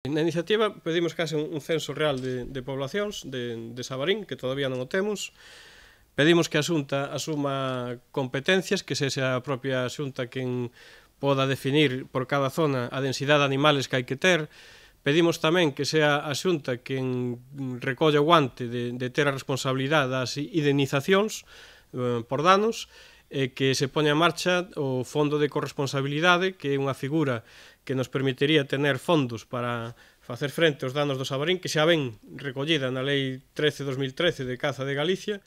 Na iniciativa pedimos case un censo real de poblacións de Sabarín, que todavía non o temos. Pedimos que a Xunta asuma competencias, que sexa a propia Xunta quen poda definir por cada zona a densidade de animales que hai que ter. Pedimos tamén que sea a Xunta quen recolla o guante de ter a responsabilidade das indemnizacións por danos, e que se poña en marcha o Fondo de Corresponsabilidade, que é unha figura que nos permitiría tener fondos para facer frente aos danos do Sabarín, que xa ven recollida na Lei 13/2013 de Caza de Galicia,